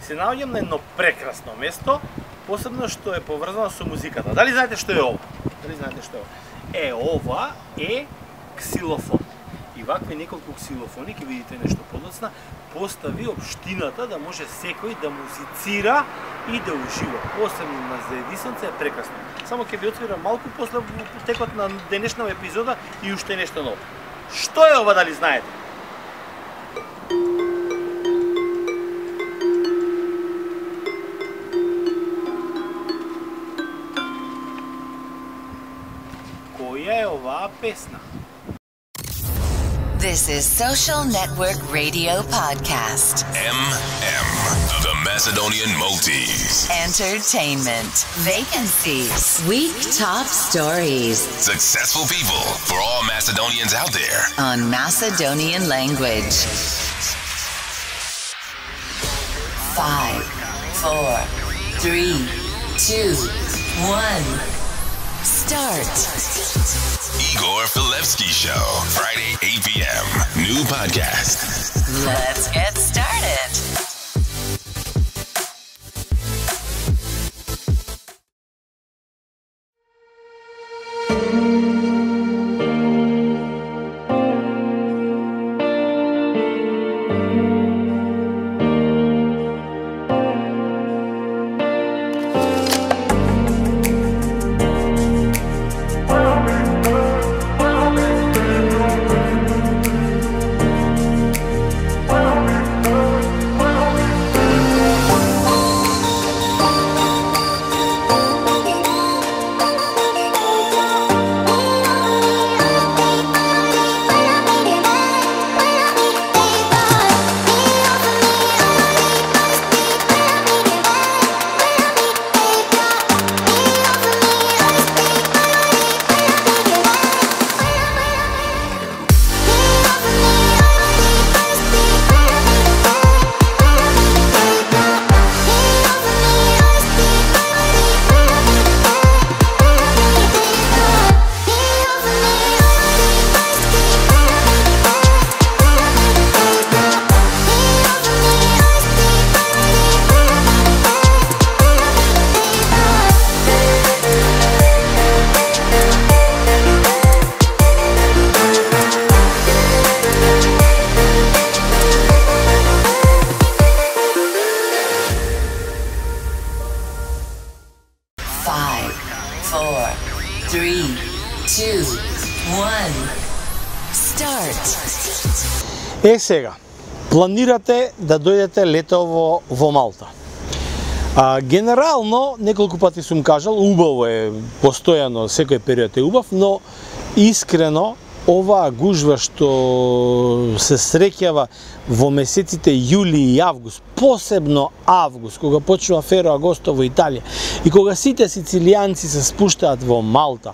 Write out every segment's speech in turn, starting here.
се наоѓам на едно прекрасно место, посебно што е поврзано со музиката. Дали знаете што е ова? Ова е ксилофон. И вакви неколку ксилофони, ќе видите нешто подоцна, постави општината да може секој да музицира и да ужива. Посебно на заедисонце е прекрасно. Само ќе ви отвира малку после текот на денешната епизода и уште нешто ново. Што е ова, дали знаете? Која е оваа песна? This is Social Network Radio Podcast. MM, the Macedonian Multis. Entertainment, vacancies, week top stories. Successful people for all Macedonians out there. On Macedonian language. 5, 4, 3, 2, 1. Start. Igor Filevsky Show, Friday, 8 p.m. New podcast. Let's get started. Сега, планирате да дојдете летово во Малта. Генерално, неколку пати сум кажал, убаво е, постојано, секој период е убав, но искрено, оваа гужва што се среќава во месеците јули и август, посебно август, кога почнува Фероагосто во Италија, и кога сите сицилијанци се спуштаат во Малта,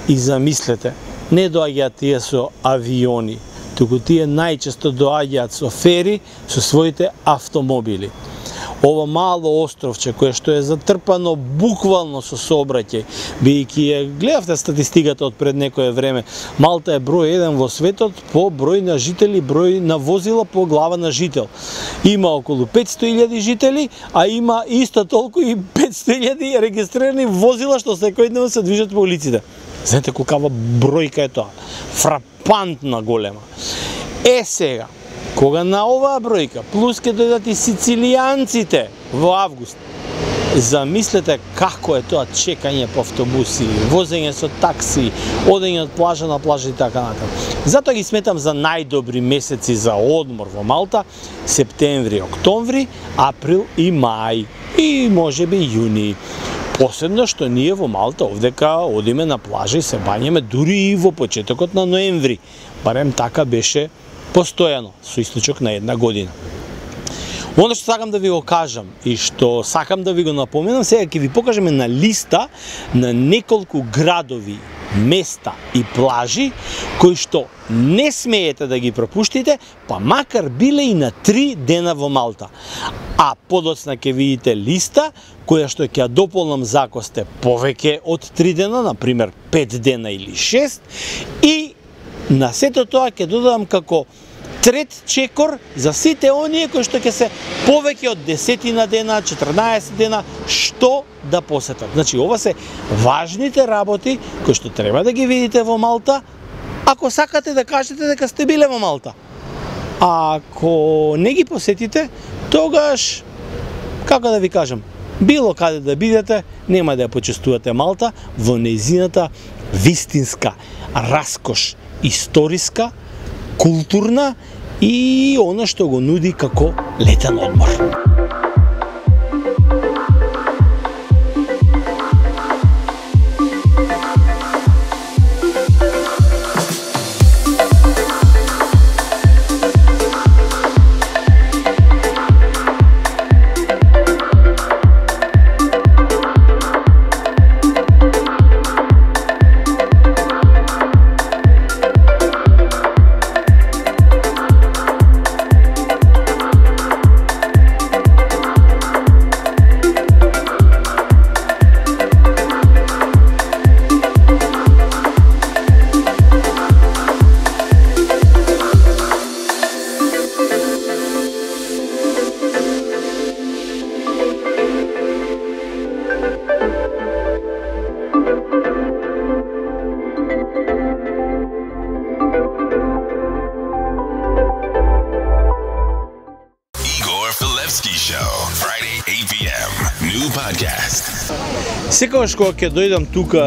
и замислете, не доаѓаат тие со авиони, туку тие најчесто доаѓаат со фери, со своите автомобили. Ова мало островче, кое што е затрпано буквално со сообраќај, бидејќи гледавте статистиката од пред некое време, Малта е број 1 во светот по број на жители, број на возила по глава на жител. Има околу 500.000 жители, а има исто толку и 500.000 регистрирани возила што секојдневно се движат по улиците. Знаете колкава бројка е тоа? Фрапантна голема. Сега, кога на оваа бројка, плюс ке дојдат и сицилијанците во август, замислете како е тоа чекање по автобуси, возење со такси, одење од плажа на плажа и така натаму. Затоа ги сметам за најдобри месеци за одмор во Малта септември, октомври, април и мај, и можеби јуни. Посебно што ние во Малта овдека одиме на плажа и се бањаме дури и во почетокот на ноември. Барем така беше постојано, со источок на една година. Оно што сакам да ви го кажам и што сакам да ви го напоменам, сега ќе ви покажеме на листа на неколку градови, места и плажи кои што не смеете да ги пропуштите, па макар биле и на 3 дена во Малта. А подоцна ќе видите листа која што ќе ја дополнам за ако сте повеќе од 3 дена, например 5 дена или 6, и на сето тоа ќе додадам како трет чекор за сите оние кои што ќе се повеќе од 10 дена, 14 дена, што да посетат. Значи, ова се важните работи кои што треба да ги видите во Малта, ако сакате да кажете дека сте биле во Малта. А ако не ги посетите, тогаш, како да ви кажам, било каде да бидете, нема да ја почестувате Малта во нејзината вистинска раскош историска, културна и она што го нуди како летен одмор. Секогаш кога ќе дојдам тука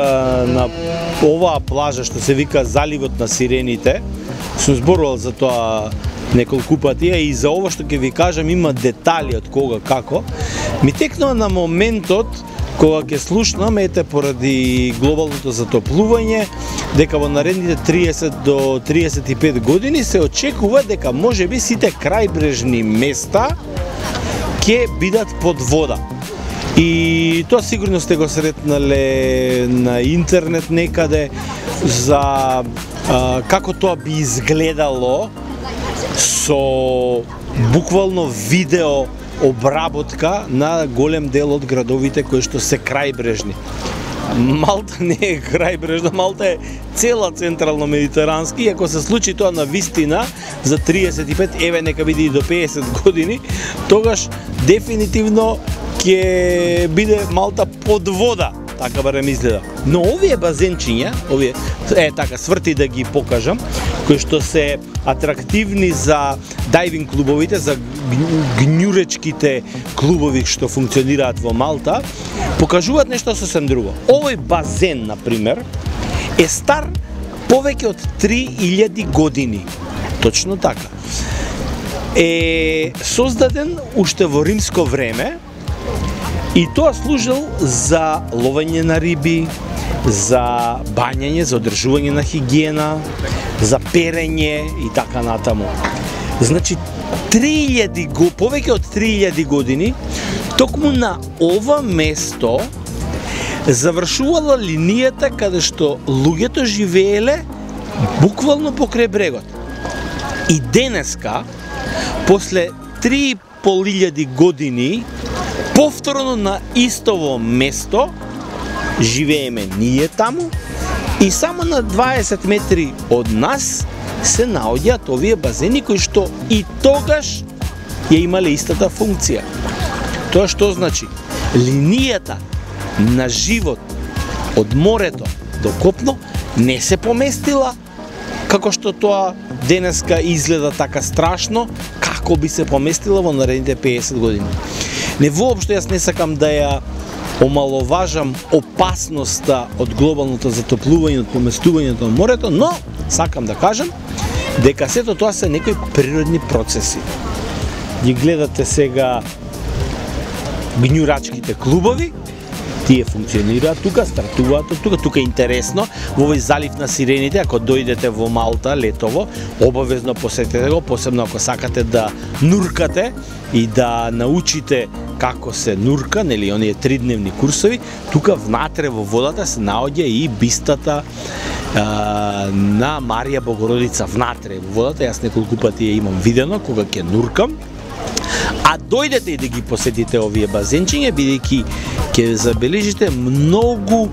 на оваа плажа што се вика Заливот на сирените, сум зборувал за тоа неколку пати и за ова што ќе ви кажам има детали од кога како. Ми текнува на моментот кога ќе слушнам, ете поради глобалното затоплување, дека во наредните 30 до 35 години се очекува дека можеби сите крајбрежни места ќе бидат под вода. И тоа сигурно сте го сретнале на интернет некаде за како тоа би изгледало со буквално видео обработка на голем дел од градовите кои што се крајбрежни. Малта не е крајбрежна, Малта е цела централно-медитерански и ако се случи тоа на вистина за 35, еве нека биде и до 50 години, тогаш дефинитивно ќе биде Малта под вода, така барем изгледа. Но овие базенчиња, овие така сврти да ги покажам, кои што се атрактивни за дайвинг клубовите, за гњуречките клубови што функционираат во Малта, покажуваат нешто сосем друго. Овој базен, например, е стар повеќе од 3000 години. Точно така. Е создаден уште во римско време и тоа служел за ловење на риби, за бањање, за одржување на хигиена, за перење и така натаму. Значи, повеќе од 3000 години, токму на ова место завршувала линијата каде што луѓето живееле буквално покрај брегот. И денеска, после 3500 години, повторно на истово место, живееме ние таму и само на 20 метри од нас се наоѓаат овие базени кои што и тогаш ја имале истата функција. Тоа што значи? Линијата на живот од морето до копно не се поместила како што тоа денеска изгледа така страшно, како би се поместила во наредните 50 години. Не воопшто јас не сакам да ја омаловажам опасноста од глобалното затоплување, од поместувањето на морето, но сакам да кажам дека сето тоа се некои природни процеси. Ги гледате сега гњурачките клубови, тие функционираат тука, стартуваат од тука, тука е интересно, во овој залив на сирените, ако дојдете во Малта летово, обавезно посетете го, посебно ако сакате да нуркате и да научите како се нурка, нели, оние 3-дневни курсови, тука внатре во водата се наоѓа и бистата на Марија Богородица внатре во водата, јас неколку пати ја имам видено кога ќе нуркам, А дојдете и да ги посетите овие базенчиња, бидејќи ќе забележите многу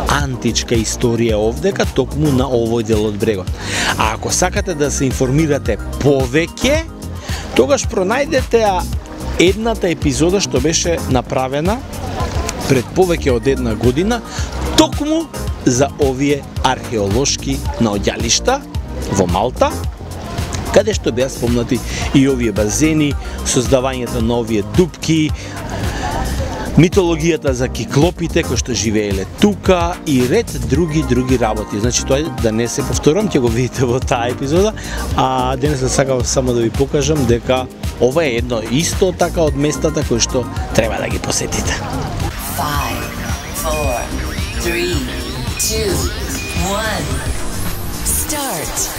античка историја овдека, токму на овој дел од брегот. А ако сакате да се информирате повеќе, тогаш пронајдете едната епизода што беше направена пред повеќе од една година, токму за овие археолошки наоѓалишта во Малта, каде што беа спомнати и овие базени, создавањето на овие дупки, митологијата за киклопите кои што живееле тука и ред други работи. Значи тоа да не се повторам, ќе го видите во таа епизода, а денес сакав само да ви покажам дека ова е едно исто така од местата кои што треба да ги посетите. 5, 4, 3, 2, 1. Start.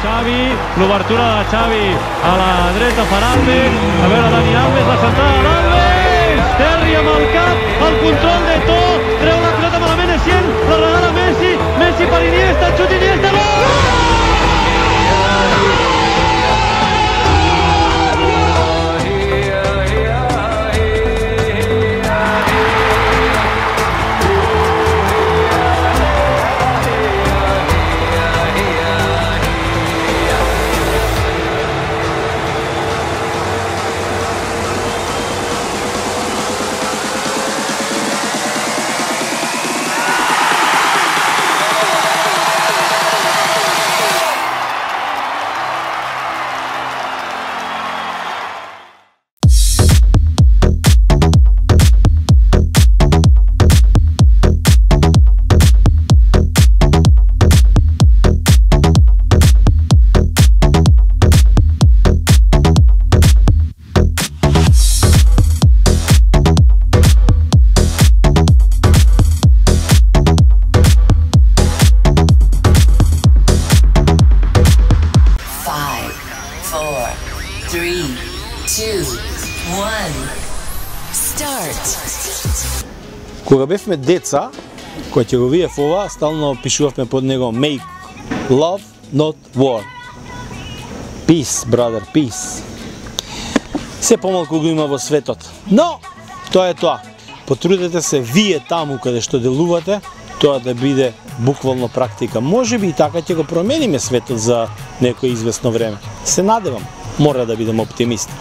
Xavi, l'obertura de Xavi a la dreta per Alves, a veure Dani Alves, la centrada d'Alves, Terry amb el cap, el control de To, treu la pilota malament Essien, la regala Messi, Messi per Iniesta, xut Iniesta, gol! Кога бевме деца, кога ќе го видев ова, стално пишувавме под него Make love, not war. Peace, brother, peace. Се помалку го има во светот. Но, тоа е тоа. Потрудете се вие таму каде што делувате, тоа да биде буквално практика. Може би и така ќе го промениме светот за некој известно време. Се надевам. Мора да бидем оптимисти.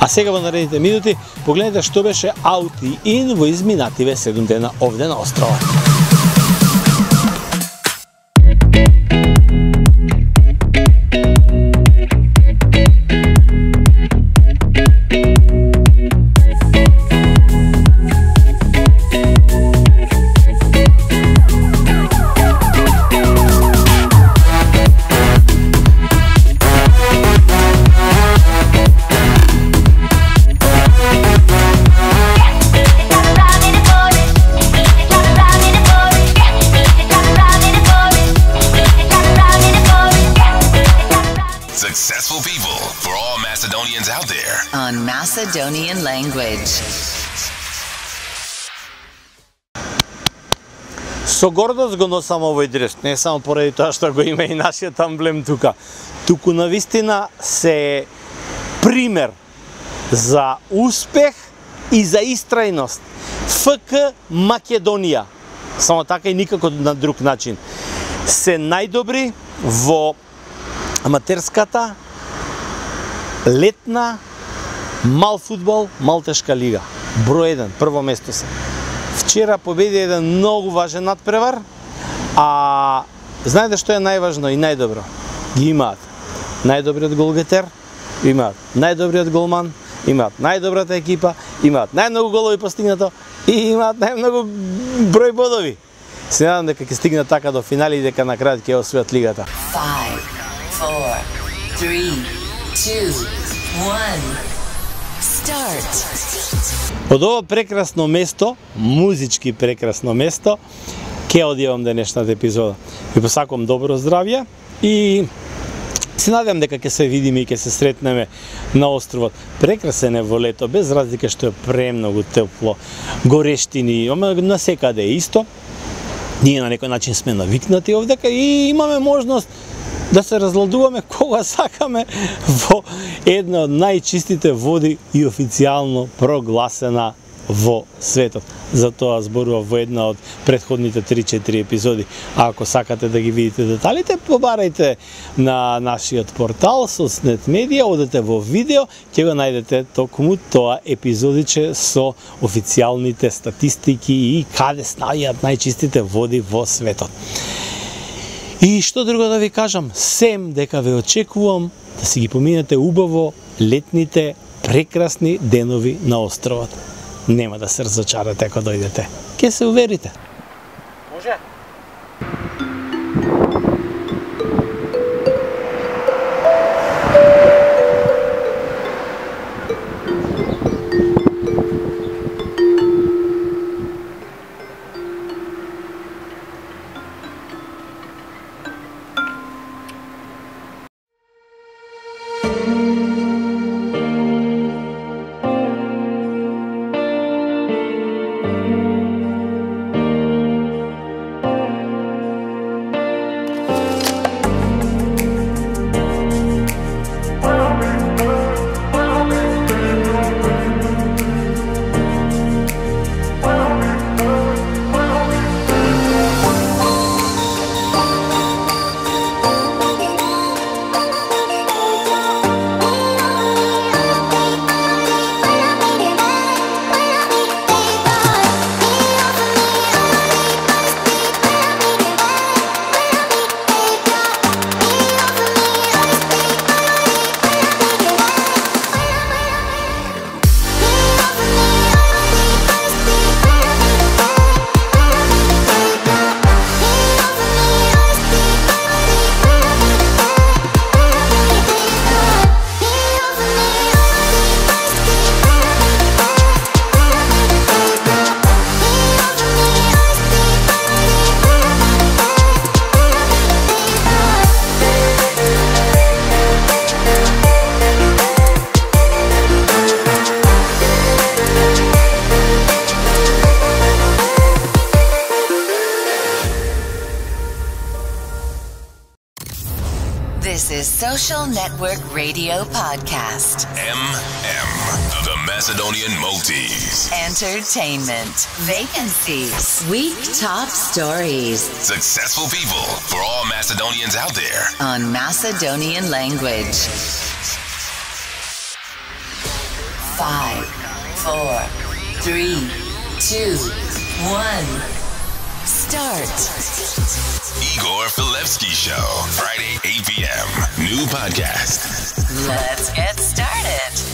А сега во наредните минути погледнете што беше out и in во изминативе 7 дена овде на острова. Successful people for all Macedonians out there. On Macedonian language. Со гордост го носам овој дрес, не само поради тоа што го има и нашиот амблем тука, туку навистина се пример за успех и за истрајност. ФК Македонија. Само така и никако на друг начин. Се најдобри во аматерската летна мал фудбал, малтешка лига. Број 1, прво место се. Вчера победи еден многу важен надпревар, а знаете што е најважно и најдобро? Ги имаат најдобриот голгетер, имаат најдобриот голман, имаат најдобрата екипа, имаат најмногу голови постигнато и имаат најмногу број бодови. Се надам дека ќе стигнат така до финали и дека на крајот ќе освојат лигата. 5, 4, 3, 2, 1. Start. Од ова прекрасно место, музички прекрасно место, ќе одјавам денешната епизода. Ви посакувам добро здравје и се надевам дека ќе се видиме и ќе се сретнеме на островот. Прекрасен е во лето, без разлика што е премногу тепло, горештини, на секаде е исто. Ние на некој начин сме навикнати овдека и имаме можност да се разладуваме кога сакаме во една од најчистите води и официјално прогласена во светот. Затоа зборував во една од претходните 3-4 епизоди. А ако сакате да ги видите деталите, побарајте на нашиот портал Соцнет Медија, одете во видео, ќе го најдете токму тоа епизодиче со официјалните статистики и каде снајаат најчистите води во светот. И што друго да ви кажам, сем дека ве очекувам да си ги поминете убаво летните прекрасни денови на островот. Нема да се разочарате ако дојдете. Ке се уверите. Може? This is Social Network Radio Podcast. The Macedonian Maltese. Entertainment. Vacancies. Week top stories. Successful people for all Macedonians out there. On Macedonian language. 5, 4, 3, 2, 1. Start. Igor Filevsky Show, Friday, 8 p.m. New podcast. Let's get started.